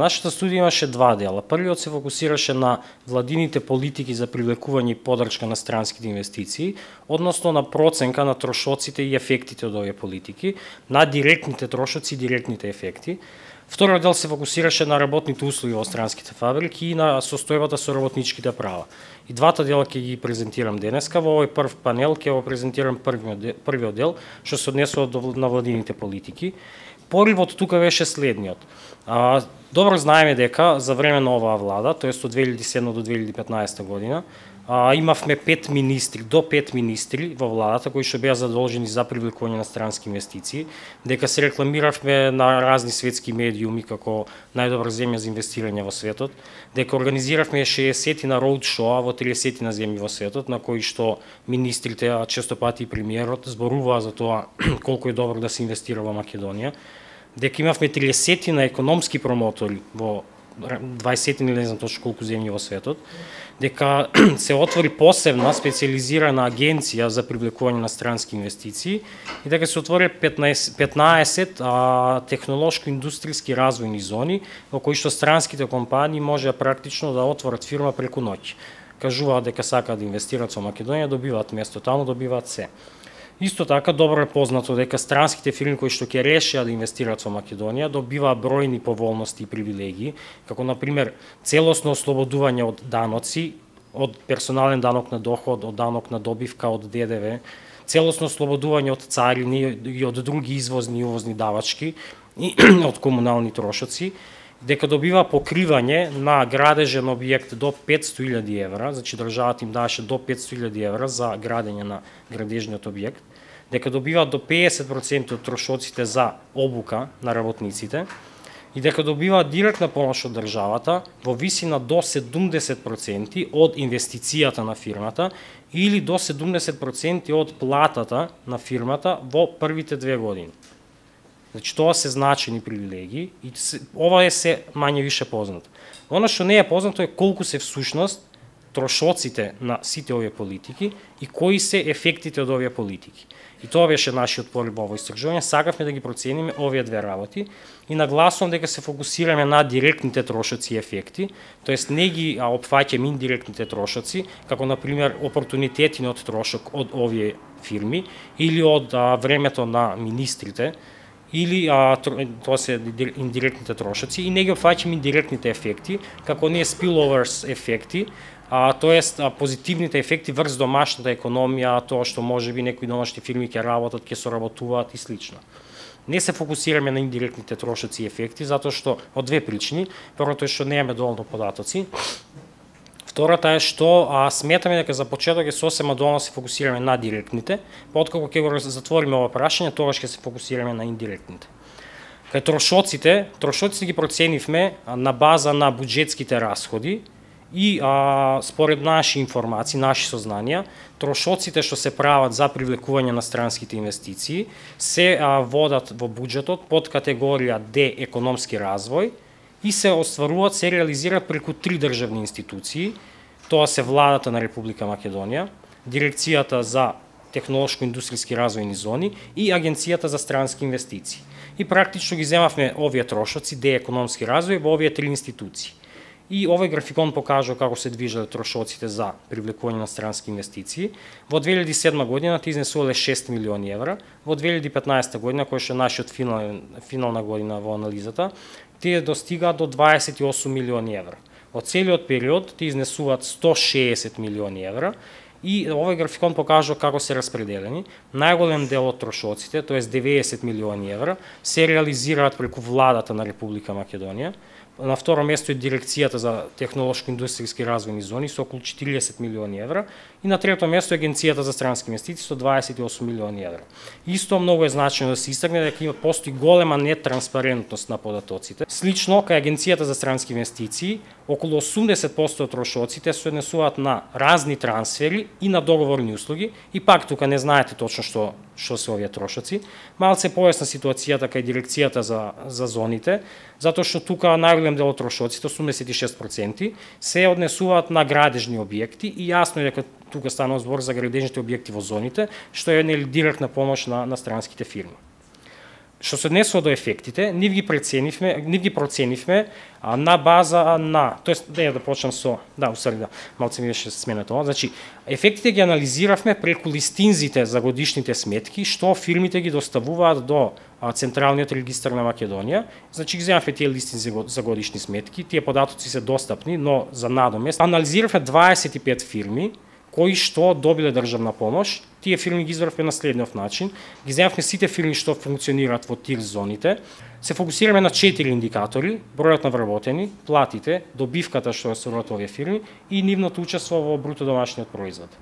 Нашата студија имаше два дела. Првиот се фокусираше на владините политики за привлекување и поддршка на странските инвестиции, односно на проценка на трошоците и ефектите од овие политики, на директните трошоци и директните ефекти. Вториот дел се фокусираше на работните услови во странските фабрики и на состојбата со работничките права. И двата дела ќе ги презентирам денеска. Во овој прв панел ќе го презентирам првиот дел, што се однесува на владините политики. Поривот тука беше следниот. Добро знаеме дека за време на оваа влада, тоест од 2007 до 2015 година, имавме 5 министри, до 5 министри во владата кои што беа задолжени за привлекување на странски инвестиции, дека се рекламиравме на разни светски медиуми како најдобра земја за инвестирање во светот, дека организиравме 60 на роудшоа во 30 на земји во светот, на кои што министрите, а често пати и премиерот, зборуваа за тоа колку е добро да се инвестира во Македонија, дека имавме 30 на економски промотори во 20 или не знам точно колку земји во светот, дека се отвори посебна специализирана агенција за привлекување на странски инвестиции и дека се отвори 15 технолошко-индустријски развојни зони во кои што странските компании можеа практично да отворат фирма преку ноќ. Кажуваат дека сакаат да инвестираат во Македонија, добиваат место таму, добиваат се. Исто така добро е познато дека странските фирми кои што ќе решат да инвестираат во Македонија добиваат бројни поволности и привилегии, како на пример целосно ослободување од даноци, од персонален данок на доход, од данок на добивка, од ДДВ, целосно ослободување од царини и од други извозни и увозни давачки и од комунални трошоци, дека добива покривање на градежен објект до 500.000 евра, значи државата им даваше до 500.000 евра за градење на градежниот објект, дека добива до 50% од трошоците за обука на работниците и дека добива директна помош од државата во висина до 70% од инвестицијата на фирмата или до 70% од платата на фирмата во првите 2 години. Значи, тоа се значени привилегии и ова е се мање више познато. Оно што не е познато е колку се всушност трошоците на сите овие политики и кои се ефектите од овие политики. И тоа беше нашиот порив во истражување. Сакавме да ги процениме овие две работи и нагласувам дека се фокусираме на директните трошоци и ефекти, тоест не ги опфаќаме индиректните трошоци, како на пример опортунитетиот трошок од овие фирми или од времето на министрите, или тоа се индиректните трошоци и не ги опфаќаме индиректните ефекти, како не spillovers ефекти, тоест позитивните ефекти врз домашната економија, тоа што можеби некои домашни фирми ќе работат, ќе соработуваат и слично. Не се фокусираме на индиректните трошоци и ефекти, затоа што од две причини. Првото е што немаме доволно податоци. Втората е што сметаме дека за почеток е сосема доволно се фокусираме на директните, па откако ќе го затвориме ова прашање, тогаш ќе се фокусираме на индиректните. Кај трошоците ги проценивме на база на буџетските расходи и според наши информации, наши сознанија, трошоците што се прават за привлекување на странските инвестиции се водат во буџетот под категорија Д економски развој и се остваруваат, се реализираат преку 3 државни институции. Тоа се владата на Република Македонија, Дирекцијата за технолошко-индустријски развојни зони и Агенцијата за странски инвестиции. И практично ги земавме овие трошоци, Д економски развој, во овие 3 институции. И овој графикон покажува како се движат трошоците за привлекување на странски инвестиции. Во 2007 година тие изнесувале 6 милиони евра, во 2015 година, која што е нашиот финална година во анализата, тие достигаат до 28 милиони евра. Од целиот период тие изнесуваат 160 милиони евра и овој графикон покажува како се распределени. Најголем дел од трошоците, тоест 90 милиони евра, се реализираат преку владата на Република Македонија. На второ место е Дирекцијата за технолошко-индустријски развојни зони со околу 40 милиони евра и на трето место е Агенцијата за странски инвестиции со 28 милиони евра. Исто многу е значено да се истакне дека постои голема нетранспарентност на податоците. Слично, кај Агенцијата за странски инвестиции, околу 80% од трошоците се однесуваат на разни трансфери и на договорни услуги и пак тука не знаете точно што се овие трошоци. Малце појасна ситуацијата кај Дирекцијата за зоните, затоа што тука најголем дел од трошоците, 86%, се однесуваат на градежни објекти и јасно е дека тука станува збор за градежните објекти во зоните, што е директна помош на странските фирми. Што се однесува до ефектите, нив ги проценивме на база на, тоест да почнам со, малце ми беше смене тоа. Значи, ефектите ги анализиравме преку листинзите за годишните сметки што фирмите ги доставуваат до Централниот регистар на Македонија. Значи, ги земавме тие листинзи за годишни сметки, тие податоци се достапни, но за надомест. Анализиравме 25 фирми кои што добиле државна помош. Тие фирми ги изврвме на следниот начин. Ги земавме сите фирми што функционираат во тир зоните. Се фокусираме на 4 индикатори: бројот на вработени, платите, добивката што ја соодветуваат овие фирми и нивното учество во бруто домашниот производ.